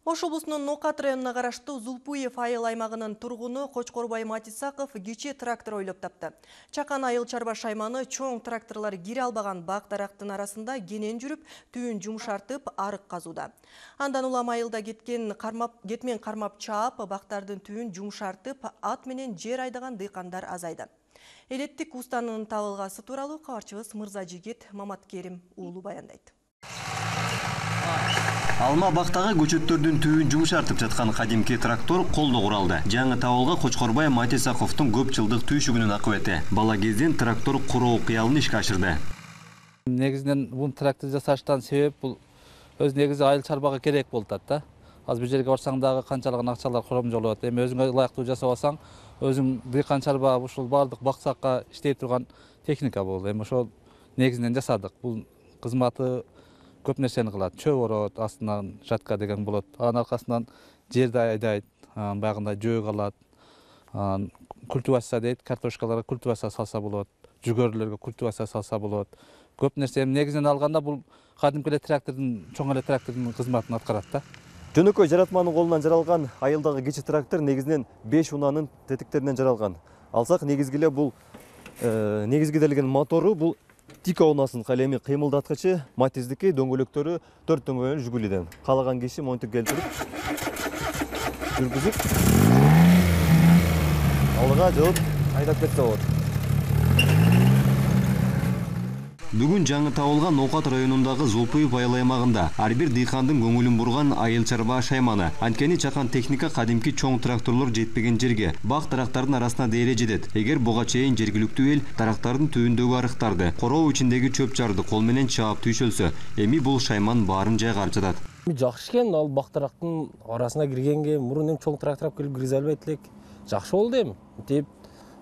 Ош облусунун Нокат районуна караштуу Зулпуев айыл аймагынын тургуну Кочкорбай Матисаков кичи трактор ойлоп тапты. Чакан айыл чарба шайманы чоң тракторлор кире албаган бак-дарактын арасында кенен жүрүп, түйүн жумшартып, арык казууда. Андан улам айылда кетмен кармап чаап, бактардын түйүн жумшартып, ат менен жер айдаган дыйкандар азайды. Элеттик устанын табылгасы тууралуу кабарчыбыз Мырзажигит Маматкерим уулу баяндайт. Алма бактагы көчөттөрдүн түйүн жумшартып жаткан кадимки трактор колдо куралды. Жаңы табылга Кочкорбай Матисаковдун көп жылдык түйшүгүнүн акыбети. Бала кезден трактор куруу кыялын ишке ашырды. Негизинен бул трактор жасаштан себеп бул өз негизи айыл чарбага керек болуп атат да. Азыр бир жерге барсаң дагы канчалаган акчалар коромжолуп атат. Эми өзүңө ылайыктуу жасап алсаң, өзүң дыйкан чарба ушул бардык баксакка иштей турган техника бул. Эми ошол негизинен жасадык. Бул кызматы көп нерсени кылат. Чөп орот, астынан жатка деген болот. Анын аркасынан жерди айдайт, баягындай жөө калат. Культивация дейт, картошкаларга культивация салса болот, жүгөрүлөргө культивация салса болот. Көп нерсе негизинен алганда бул кадимки эле трактордун, чоң эле трактордун кызматын аткарат да. Жөнөкөй жаратманын колунан жаралган айылдагы кичи трактор негизинен 5 унаанын тетиктеринен жаралган. Алсак негизги эле бул негизгиделген мотору бул Тика унасынын калеми кыймылдаткычы, Матиздики дөңгөлөктөрү 4 дөңгөлөк Жигулиден. Каалаган киши монтип келтирип, жүргүзүп, алга жыгып айдап кетсе болот. Бүгүн жаңы табылган Нокат районундагы Зулпуев айыл аймагында ар бир дыйкандын көңүлүн бурган айыл чарба шайманы. Анткени чакан техника кадимки чоң тракторлор жетпеген жерге бак-дарактардын арасына дейре жетет. Эгер буга чейин жергиликтүү эл дарактардын түйүндөгү арыктарды, короо ичиндеги чөп жарды кол менен чаап түйшөлсө, эми бул шайман баарын жайга арчытат. Жакшы экен, ал бак-дарактын арасына киргенге мурун эми чоң трактор келип киргизе албайт элек. Жакшы болду эми. Деп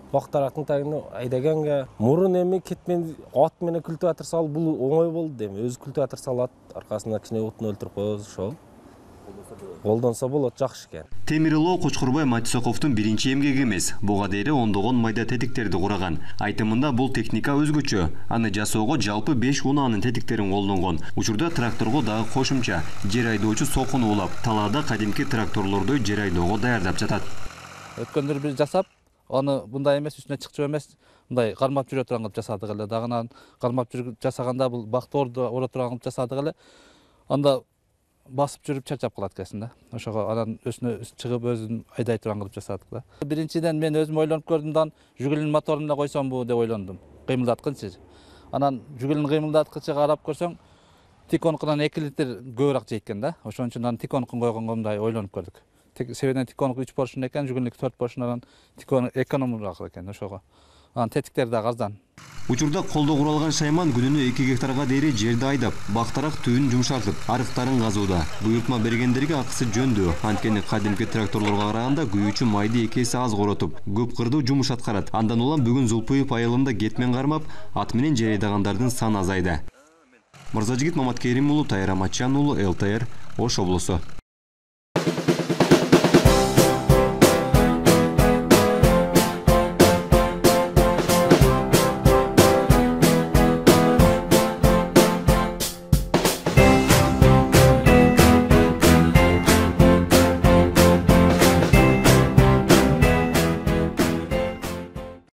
бак-дарактын тагына айдаганга мурун эми кетмен ат менен культиватор салып бул оңой болду эми. Өзү культиватор салат, аркасына кичине утун өлтүрүп коебуз, ошол. Колдонсо болот, жакшы экен. Темирилоо Кочкорбай Матисаковдун биринчи эмгеги эмес. Буга дейре ондогон майда тетиктерди кураган. Айтымында бул техника өзгөчө. Аны жасоого жалпы 5 унаанын тетиктерин колдонгон. Учурда тракторго дагы кошумча жер айдоочу сокун уулап, талаада кадимки тракторлордой жер айдоого даярдап жатат. Өткөндөрү бир жасап, аны мындай эмес, үстүнө чыкчу эмес, мындай кармап жүрө турган кылып жасадык эле. Дагынан кармап жасаганда бул бакторду ора турган кылып жасадык эле. Анда басып жүрүп чарчап калат экенсиң да. Ошого анан үстүнө чыгып өзүн айдай турган кылып жасадык да. Биринчиден мен өзүм ойлонуп көрдүм да, жүгүлүн моторун да койсомбу деп ойлондум. Кыймылдаткычы. Анан жүгүлүн кыймылдаткычы карап көрсөң, тиконкунан 2 литр көбүрөөк жейт экен да. Ошон үчүн анан тиконкун койгонго мындай ойлонуп көрдүк. Себебинен тиконку 3 поршун экен, жүгүлүнүк 4 поршундан тикон экономдураак экен ошого. Анан тетиктер да арзан. Учурда колдо куралган шайман күнүнө 2 гектарга дейре жерди айдап, бактарак түйүн жумшартып, арыктарын казууда. Буйртма бергендерге акысы жөндүү. Анткени кадимки тракторлорго караганда күйүүчү майды 2 эсе аз коротуп, көп кырдуу жумуш аткарат. Андан улам бүгүн Зулпуев айылында кетмен кармап, ат менен жер айдагандардын саны азайды. Мырзажигит Маматкерим уулу, Тайра Матчан уулу, ЛТР, Ош облусу.